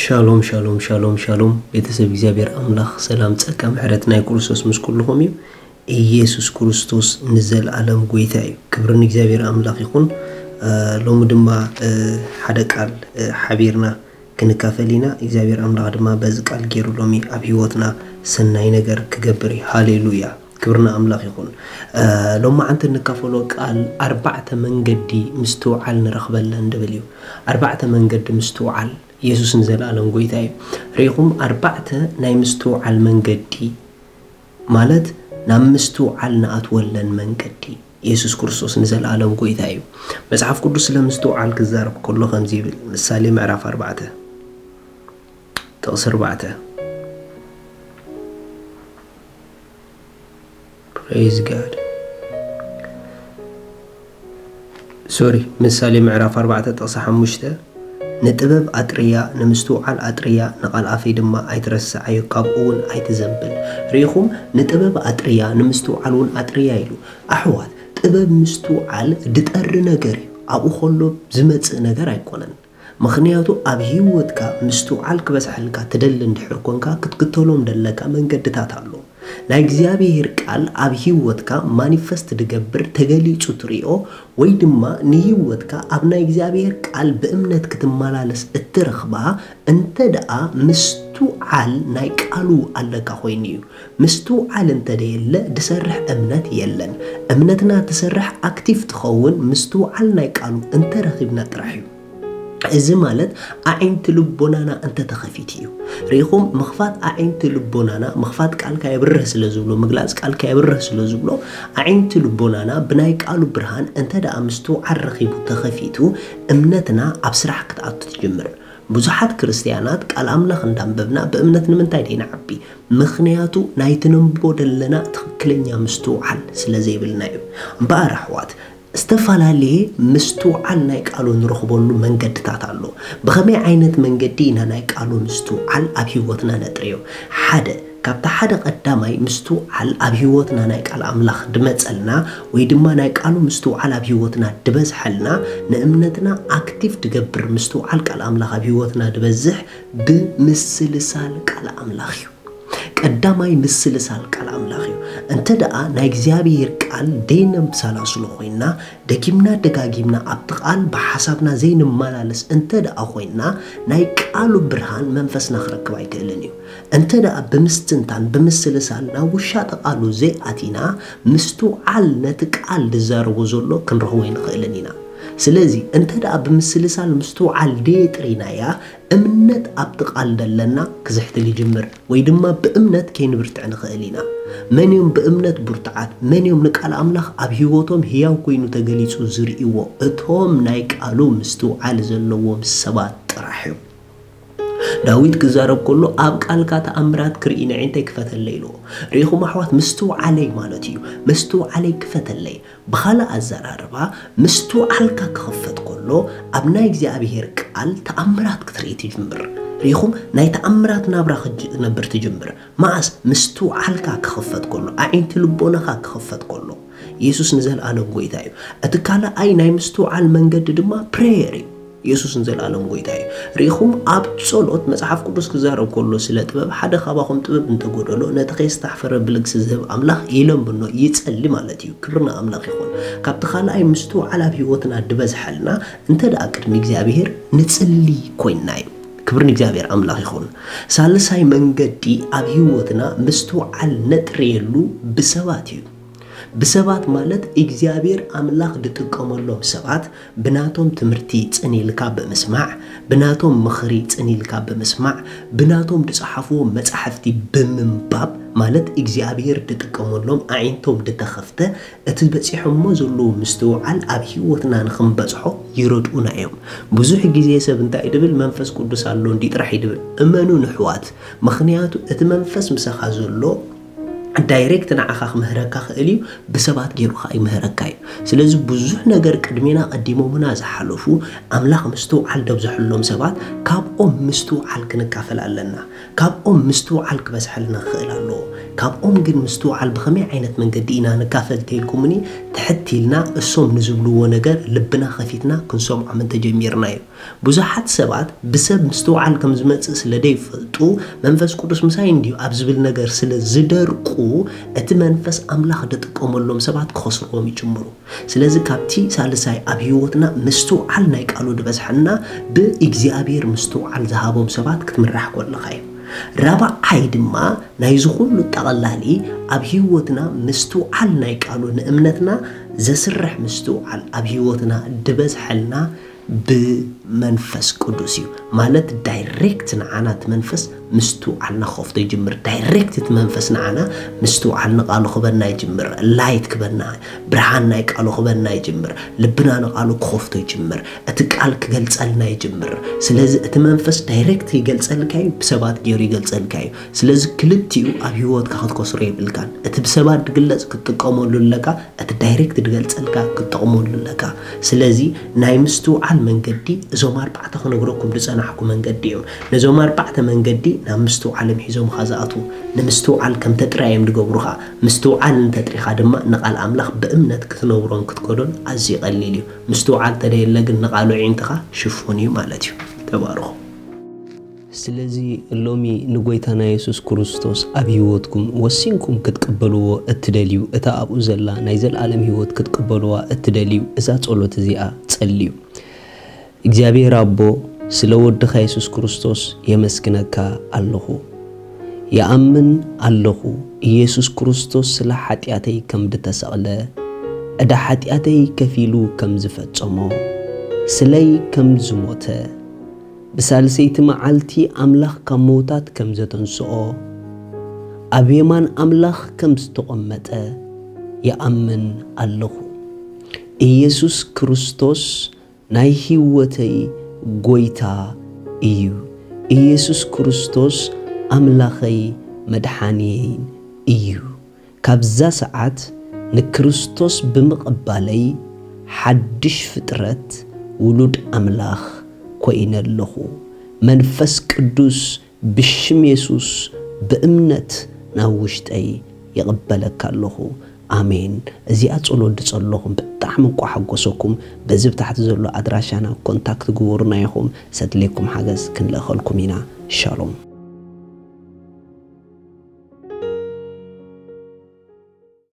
ሻሎም ሻሎም ሻሎም ሻሎም። ቤተሰብ እግዚኣብሔር ኣምላኽ ሰላም፣ ጸጋ፣ ምሕረት ናይ ክርስቶስ ምስ ኩልኹም እዩ። ኢየሱስ ክርስቶስ ንዘለኣለም ጎይታ እዩ። ክብሪ ንእግዚኣብሔር ኣምላኽ ይኹን። ሎሚ ድማ ሓደ ቃል ሓቢርና ክንካፈል ኢና። እግዚኣብሔር ኣምላኽ ድማ በዚ ቃል ገይሩ ሎሚ ኣብ ህይወትና ሰናይ ነገር ክገብር እዩ። ሃሌሉያ። ክብርና ኣምላኽ ይኹን። ሎማዓንቲ እንካፈሎ ቃል ኣርባዕተ መንገዲ ምስትውዓል ንረኽበለን ድብል እዩ። ኣርባዕተ መንገዲ ምስትውዓል። ኢየሱስ ንዘለኣለም ጎይታ እዩ። ርኢኹም፣ ኣርባዕተ ናይ ምስትውዓል መንገዲ ማለት ናብ ምስትውዓል ንኣትወለን መንገዲ። ኢየሱስ ክርስቶስ ንዘለኣለም ጎይታ እዩ። መጽሓፍ ቅዱስ ስለ ምስትውዓል ክዛረብ ከሎ ከምዚ ይብል። ምሳሌ ምዕራፍ ኣርባዕተ ጥቕሲ ኣርባዕተ። Praise God. ሶሪ፣ ምሳሌ ምዕራፍ ኣርባዕተ ጥቕሲ ሓሙሽተ፣ "ንጥበብ ኣጥርያ፣ ንምስትውዓል ኣጥርያ፣ ንቓል ኣፈይ ድማ ኣይትረስዓዮ፣ ካብኡ እውን ኣይትዘንብል።" ርኢኹም፣ "ንጥበብ ኣጥርያ፣ ንምስትውዓል እውን ኣጥርያ" ኢሉ። ኣሕዋት፣ ጥበብ ምስትውዓል ድጠሪ ነገር እዩ። ኣብኡ ከሎ ዝመጽእ ነገር ኣይኮነን። ምኽንያቱ ኣብ ህይወትካ ምስትውዓል ክበዝሐልካ ትደሊ እንድሕር ኮንካ፣ ክትክተሎም ደለካ መንገድታት ኣሎ። ናይ እግዚኣብሔር ቃል ኣብ ህይወትካ ማኒፈስት ድገብር፣ ተገሊጹ ትሪኦ፣ ወይ ድማ ንህይወትካ ኣብ ናይ እግዚኣብሔር ቃል ብእምነት ክትመላለስ እትረኽባ እንተ ደኣ ምስትውዓል ናይ ቃሉ ኣለካ ኮይኑ እዩ። ምስትውዓል እንተ ደየለ ድሰርሕ እምነት የለን። እምነትና ትሰርሕ ኣክቲቭ ትኸውን ምስትውዓል ናይ ቃሉ እንተ ረኺብና ጥራሕ እዩ። እዚ ማለት ኣዒንቲ ልቦናና እንተ ተኸፊቱ እዩ። ርኢኹም፣ ምኽፋት ኣዒንቲ ልቦናና፣ ምኽፋት ቃልካ የብርህ ስለ ዝብሎ፣ ምግላጽ ቃልካ የብርህ ስለ ዝብሎ፣ ኣዒንቲ ልቦናና ብናይ ቃሉ ብርሃን እንተ ደኣ ምስትውዓል ረኺቡ ተኸፊቱ፣ እምነትና ኣብ ስራሕ ክትኣቱ ትጅምር። ብዙሓት ክርስትያናት ቃል ኣምላኽ እንዳንበብና ብእምነት ንምንታይ ደይንዓቢ? ምኽንያቱ ናይ ትነንብቦ ደለና ትኽክለኛ ምስትውዓል ስለ ዘይብልና እዩ። እምበኣር ኣሕዋት፣ ዝተፈላለየ ምስትውዓል ናይ ቃሉ ንረኽበሉ መንገድታት ኣሎ። ብኸመይ ዓይነት መንገዲ ኢና ናይ ቃሉ ምስትውዓል ኣብ ህይወትና ነጥርዮ? ሓደ፣ ካብቲ ሓደ ቀዳማይ ምስትውዓል ኣብ ህይወትና ናይ ቃል ኣምላኽ ድመጸልና ወይ ድማ ናይ ቃሉ ምስትውዓል ኣብ ህይወትና ድበዝሐልና፣ ንእምነትና ኣክቲቭ ድገብር ምስትውዓል ቃል ኣምላኽ ኣብ ህይወትና ድበዝሕ ብምስልሳል ቃል ኣምላኽ እዩ። ቀዳማይ ምስልሳል ቃል ኣምላኽ እዩ። እንተ ደኣ ናይ እግዚኣብሔር ቃል ደይነምሰላስሎ ኮይና፣ ደጊምና ደጋጊምና ኣብቲ ቃል ብሓሳብና ዘይንመላለስ እንተ ደኣ ኮይና፣ ናይ ቃሉ ብርሃን መንፈስና ክረክብ ኣይክእልን እዩ። እንተ ደኣ ብምስትንታን፣ ብምስልሳል ናብ ውሻጠ ቃሉ ዘይኣቲና፣ ምስትውዓል ነቲ ቃል ዝዛረቦ ዘሎ ክንረኽቦ ኣይንኽእልን ኢና። ስለዚ እንተ ደኣ ብምስልሳል ምስትውዓል ደየጥሪናያ፣ እምነት ኣብቲ ቃል ደለና ክዝሕትል ይጅምር፣ ወይ ድማ ብእምነት ከይንብርትዕ ንኽእል ኢና። መን እዮም ብእምነት ብርቱዓት? መን እዮም ንቃል ኣምላኽ ኣብ ህይወቶም ህያው ኮይኑ ተገሊጹ ዝርእይዎ? እቶም ናይ ቃሉ ምስትውዓል ዘለዎም ሰባት ጥራሕ እዮም። ዳዊት ክዛረብ ከሎ፣ "ኣብ ቃልካ ተኣምራት ክርኢ ነዒንተይ ክፈተለይ" ኢልዎ። ርኢኹም ኣሕዋት፣ ምስትውዓለይ ማለት እዩ። ምስትውዓለይ ክፈተለይ። ብኻልእ ኣዘራርባ፣ ምስትውዓልካ ክኽፈት ከሎ፣ ኣብ ናይ እግዚኣብሔር ቃል ተኣምራት ክትርኢ ትጅምር። ርኢኹም፣ ናይ ተኣምራት ናብራ ክትነብር ትጅምር። መኣስ? ምስትውዓልካ ክኽፈት ከሎ፣ ኣዒንቲ ልቦናኻ ክኽፈት ከሎ። ኢየሱስ ንዘለኣለም ጎይታ እዩ። እቲ ካልኣይ ናይ ምስትውዓል መንገዲ ድማ ፕሬየር እዩ። ኢየሱስ ንዘለኣለም ጎይታ እዩ። ርኢኹም፣ ኣብ ጸሎት መጽሓፍ ቅዱስ ክዛረብ ከሎ ስለ ጥበብ፣ ሓደ ካባኹም ጥበብ እንተጎደሎ፣ ነቲ ከየስታሕፈረ ብልግሲ ዝህብ ኣምላኽ ይለምኖ፣ ይጸሊ ማለት እዩ። ክብሪ ንኣምላኽ ይኹን። ካብቲ ካልኣይ ምስትውዓል ኣብ ህይወትና ድበዝሐልና፣ እንተ ደኣ ቅድሚ እግዚኣብሔር ንጽሊ ኮይንና እዩ። ክብሪ ንእግዚኣብሔር ኣምላኽ ይኹን። ሳልሳይ መንገዲ ኣብ ህይወትና ምስትውዓል ነጥርየሉ ብሰባት እዩ። ብሰባት ማለት እግዚኣብሔር ኣምላኽ ድጥቀመሎም ሰባት፣ ብናቶም ትምህርቲ ጽን ኢልካ ብምስማዕ፣ ብናቶም ምኽሪ ጽን ኢልካ ብምስማዕ፣ ብናቶም ድጸሓፍዎ መጻሕፍቲ ብምንባብ፣ ማለት እግዚኣብሔር ድጥቀመሎም ኣዒንቶም ድተኸፍተ፣ እቲ በጺሖሞ ዘለዉ ምስትውዓል ኣብ ህይወትና ንኽንበጽሖ ይረድኡና እዮም። ብዙሕ ግዜ ሰብ እንታይ እዩ ድብል? መንፈስ ቅዱስ ኣሎ እንዲ ጥራሕ እዩ ድብል። እመኑ ንሕዋት፣ ምኽንያቱ እቲ መንፈስ ምሳኻ ዘሎ ዳይሬክት ንዓኻ ክምህረካ ክእል እዩ፣ ብሰባት ገይሩ ከዓ ይምህረካ እዩ። ስለዚ ብዙሕ ነገር ቅድሜና ቀዲሞምና ዝሓለፉ ኣምላኽ ምስትውዓል ደብዝሐሎም ሰባት ካብኦም ምስትውዓል ክንካፈል ኣለና። ካብኦም ምስትውዓል ክበዝሐልና ክኽእል ኣለዎ። ካብኦም ግን ምስትውዓል ብኸመይ ዓይነት መንገዲ ኢና ንካፈል ተይልኩምኒ ትሕት ኢልና እሶም ንዝብልዎ ነገር ልብና ከፊትና ክንሰምዖም እንተጀሚርና እዩ። ብዙሓት ሰባት ብሰብ ምስትውዓል ከም ዝመጽእ ስለ ዘይፈልጡ መንፈስ ቅዱስ ምሳይ እንድዩ ኣብ ዝብል ነገር ስለ ዝደርቁ እቲ መንፈስ ኣምላኽ ደጥቀመሎም ሰባት ክኸስርዎም ይጅምሩ። ስለዚ ካብቲ ሳልሳይ ኣብ ህይወትና ምስትውዓል ናይ ቃሉ ዝበዝሐና ብእግዚኣብሔር ምስትውዓል ዝሃቦም ሰባት ክትምራሕ ኮለኻ እዩ። ራብዓይ ድማ ናይዚ ኩሉ ጠቐላሊ ኣብ ህይወትና ምስትውዓል ናይ ቃሉ ንእምነትና ዘስርሕ ምስትውዓል ኣብ ህይወትና ዝበዝሐልና ብመንፈስ ቅዱስ እዩ። ማለት ዳይሬክት ንዓና እቲ መንፈስ ምስትውዓልና ክኸፍቶ ይጅምር። ዳይሬክት እቲ መንፈስ ንዓና ምስትውዓል ንቃሉ ክበና ይጅምር። ላይት ክበና፣ ብርሃን ናይ ቃሉ ክበና ይጅምር። ልብና ንቃሉ ክኸፍቶ ይጅምር። እቲ ቃል ክገልጸልና ይጅምር። ስለዚ እቲ መንፈስ ዳይሬክት ይገልጸልካ እዩ፣ ብሰባት ገይሩ ይገልጸልካ እዩ። ስለዚ ክልቲኡ ኣብ ህይወትካ ክትከስሮ የብልካን። እቲ ብሰባት ዝግለጽ ክትጥቀመሉ ኣለካ፣ እቲ ዳይሬክት ዝገልጸልካ ክትጠቕመሉ ኣለካ። ስለዚ ናይ ምስትውዓል መንገዲ እዞም ኣርባዕተ ክነግረኩም ዝጸናሕኩ መንገዲ እዮም። ነዞም ኣርባዕተ መንገዲ ናብ ምስትውዓል እዮም ሒዞምኻ ዝኣትዉ። ንምስትውዓል ከምተ ጥራይ እዮም ዝገብሩኻ። ምስትውዓል እንተጥሪኻ ድማ ንቓል ኣምላኽ ብእምነት ክትነብሮን ክትከዶን ኣዝዩ ቀሊል እዩ። ምስትውዓል ተደየለ ግን ንቓሉ ዒንትኻ ሽፉን እዩ ማለት እዩ። ተባረኹ። ስለዚ ሎሚ ንጎይታና የሱስ ክርስቶስ ኣብ ህይወትኩም ወሲንኩም ክትቅበልዎ እትደልዩ፣ እታ ኣብኡ ዘላ ናይ ዘለኣለም ህይወት ክትቅበልዋ እትደልዩ፣ እዛ ጸሎት እዚኣ ጸልዩ። እግዚኣብሔር ኣቦ፣ ስለ ወድኻ የሱስ ክርስቶስ የመስግነካ ኣለኹ። ይኣምን ኣለኹ፣ ኢየሱስ ክርስቶስ ስለ ሓጢኣተይ ከም ዝተሰቕለ፣ ዕዳ ሓጢኣተይ ከፊሉ ከም ዝፈጸሞ፣ ስለይ ከም ዝሞተ፣ ብሳልሰይቲ መዓልቲ ኣምላኽ ካብ ምዉታት ከም ዘተንስኦ፣ ኣብ የማን ኣምላኽ ከም ዝተቐመጠ ይኣምን ኣለኹ። ኢየሱስ ክርስቶስ ናይ ህይወተይ ጎይታ እዩ። ኢየሱስ ክርስቶስ ኣምላኸይ መድሓንየይን እዩ። ካብዛ ሰዓት ንክርስቶስ ብምቕባለይ ሓድሽ ፍጥረት ውሉድ ኣምላኽ ኮይነ ኣለኹ። መንፈስ ቅዱስ ብሽም የሱስ ብእምነት ናብ ውሽጠይ ይቕበለካ ኣለኹ። ኣሜን። እዚኣ ጸሎት ዝጸለኹም ብጣዕሚ እንቋ ሓጎሰኩም። በዚ ብታሕቲ ዘሎ ኣድራሻና ኮንታክት ግበሩና ኢኹም። ሰድሌኩም ሓገዝ ክንልእኸልኩም ኢና። ሻሎም።